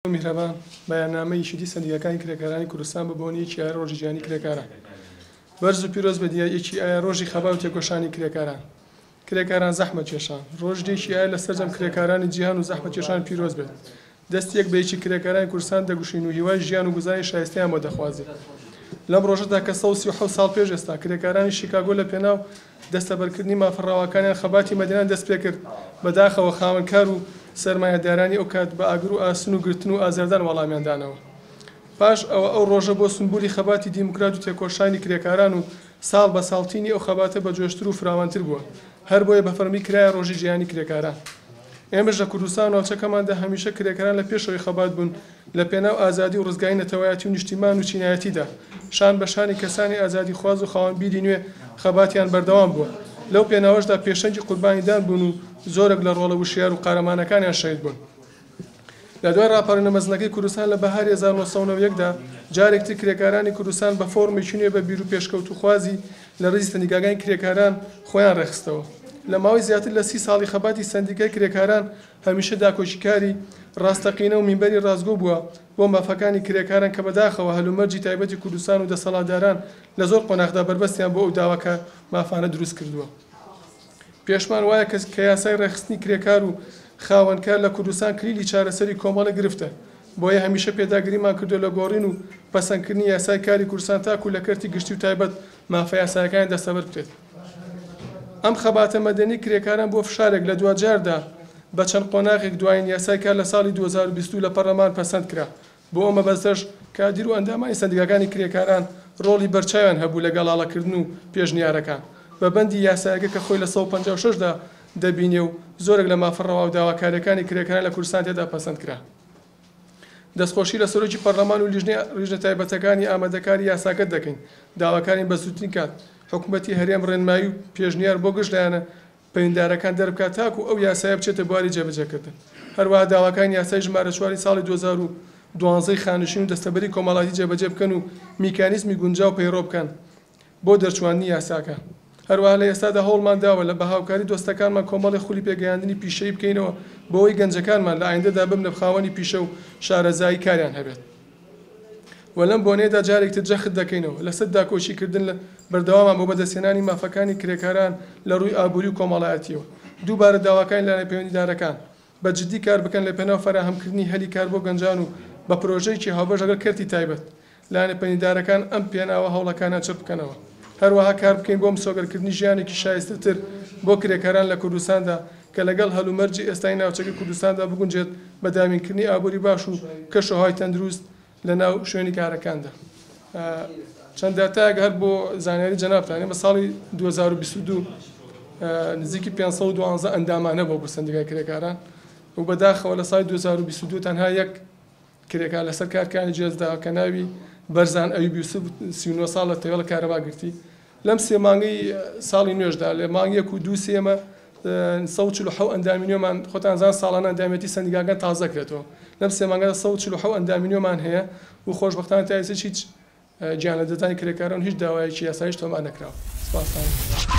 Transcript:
میهرەبان، بەیاننامەی یەکێتی سەندیکاکانی کرێکارانی کوردستان بە بۆنەی یەکی ئایار ڕۆژی جیهانی کرێکاران. بەرز و پیرۆز بێت یەکی ئایار ڕۆژی خەبات و تێکۆشانی کرێکاران. کرێکاران زەحمەتکێشان. ڕۆژی یەکی ئایار لە سەرجەم کرێکارانی جیهان و زەحمەتکێشان پیرۆز بێت. دەستی یەک بە یەکی کرێکارانی کوردستان دەگوشین و هیوای ژیان و گوزەرانی شایستەیان بۆ دەخوازین. لەم ڕۆژەدا کە 137 ساڵ پێش ئێستا کرێکارانی شیکاگۆ لە پێناو دەستەبەرکردنی مافە ڕەواکانیان خەباتی مەدەنیان دەستپێکرد، بەداخەوە خاوەنکار و سەرمایەدارانی ئەوکات بە ئاگر و ئاسن و گرتن و ئازاردان وەڵامیان دانەوە. پاش ئەوە ئەو ڕۆژە بۆ سونبولی خەباتی دیموکرات و تێکۆشانی کرێکاران و ساڵ بە ساڵ تینی ئەو خەباتە بەجۆشتر و فراوانتر بووە. هەربۆیە بە فەرمی کرایە ڕۆژی جیهانی کرێکاران. ئێمەش لە کوردستان و ناوچەکەماندا هەمیشە کرێکاران لە پێشەوەی خەبات بوون لە پێناو ئازادی و ڕزگاری نەتەوایەتی و نیشتیمان و چینایەتیدا شان بە شانی کەسانی ئازادیخواز و خاوەن بیری نوێ خەباتیان بەردەوام بووە. لەو پێناوەشدا پێشەنگی قوربانیدان بوون و زۆرێک لە ڕۆڵە وشیار و قارەمانەکانیان شەهید بوون. لە دوای ڕاپەڕینە مەزنەکەی کوردستان لە بەهاری 1991 دا جارێکتر کرێکارانی کوردستان بە فۆرمێکی نوێ بە بیر و پێشکەوتووخوازی لە ڕیزی سەندیکاکانی کرێکاران خۆیان ڕێکخستەوە. لە ماوەی زیاتر لە 30 ساڵی خەباتی سەندیکای کرێکاران هەمیشە داکۆکیکاری ڕاستەقینە و مینبەری ڕاستگۆ بووە بۆ مافەکانی کرێکاران کە بەداخەوە هەلومەرجی تایبەتی کوردستان و دەسەڵاتداران لە زۆر قۆناغدا بەربەستیان بۆ ئەو داواکە مافانە دروست کردووە. پێشمان وایە کە یاسای ڕێکخستنی کرێکار و خاوەنکار لە کوردستان کلیلی چارەسەری کۆمەڵێک گرفتە، بۆیە هەمیشە پێداگریمان کردووە لە گۆڕین و پەسەندکردنی یاسای کاری کوردستان تاکو لە کەرتی گشتی و تایبەت مافە یاسایەکانیان دەستەبەر بکرێت. ئەم خەباتە مەدەنی کرێکاران بۆ فشارێک لە دواجاردا بە چەند قۆناغێک دوایین یاسای کار لە ساڵی 2022 لە پەرلەمان پەسەند کرا. بۆ ئەو مەبەستەش کادیر و ئەندامانی سەندیکاکانی کرێکاران ڕۆڵی بەرچاویان هەبوو لە گەڵاڵەکردن و پێشنیارەکان بە بەندی یاسایەکە کە خۆی لە 156 دا دەبینێ و زۆرێک لە مافە ڕەوا و داواکارییەکانی کرێکاران لە کوردستان تێدا پەسەند کرا. دەستخۆشی لە سەرۆکی پەرلەمان و لیژنەی لیژنە تایبەتەکانی ئامادەکاری یاساکە دەکەین. داواکارین بە زووترین کات حکومەتی هەرێم ڕێنمایی و پێشنیار بۆ گشت لایەنە پەیوەندیدارەکان دەربکات تاکو ئەو یاسایە بچێتە بواری جێبەجێکردن. هەروەها داواکارین یاسای ژمارە چواری ساڵی 2012 ی خانەنشین و دەستەبەری کۆمەڵایەتی جێبەجێ بکەن و میکانیزمی گونجاو پەیڕەو بکەن بۆ دەرچواندنی یاساکە. هەروەها لە ئێستادا هەوڵمان داوە لە بە هاوکاری دۆستەکانمان کۆمەڵێک خولی پێگەیاندنی پیشەیی بکەینەوە بۆ ئەوەی گەنجەکانمان لە ئایندەدا ببنە خاوەنی پیشە و شارەزایی کاریان هەبێت و لەم بۆنەیەدا جارێکتر جەخت دەکەینەوە لەسەر داکۆکی کردن لە بەردەوامان بۆ بەدەستهێنانی مافەکانی کرێکاران لە ڕووی ئابووری و کۆمەڵایەتیەوە. دووبارە داواکارین لایەنە پەیوەندیدارەکان بە جدی کار بکەن لە پێناو فەراهەمکردنی هەلی کار بۆ گەنجان و بە پرۆژەیەکی هاوبەش لەگەڵ کەرتی تایبەت لایەنە پەیوەندیدارەکان ئەم پێناوە هەوڵەکانیان چڕ بکەنەوە. هەروەها کار بکەین بۆ مسۆگەرکردنی ژیانێکی شایستەتر بۆ کرێکاران لە کوردستاندا کە لەگەڵ هەلومەرجی ئێستای ناوچەکەی کوردستاندا بگونجێت بە دابینکردنی ئابووری باش و کەشوهەوای تەندروست لە ناو شوێنی کارەکاندا. چەند داتایەک هەر بۆ زانیاری جەنابتان، ئێمە ساڵی 2022 نزیکی 512 ئەندامان هەبووە بۆ سەندیکای کرێکاران و بەداخەوە لە ساڵی 2022 تەنها یەک کرێکار لەسەر کارکانی جێزدا کە ناوی بەرزان ئەیوب یوسف 39 ساڵ لە تەوێڵە کارەبا گرتی. لەم سێ مانگەی ساڵی نوێشدا لە مانگ یەک و دوو سێ ئێمە 147 ئەندامی نوێمان، خۆتان زان ساڵانە ئەندامێتی سەندیکاکان تازە کرێتەوە، لەم سێ مانگەدا 147 ئەندامی نوێمان هەیە و خۆشبەختانە تا ئێستا هیچ گیانلەدەستدانی کرێکاران و هیچ داوایەکی یاساییش تۆمار نەکراوە. سپاستان.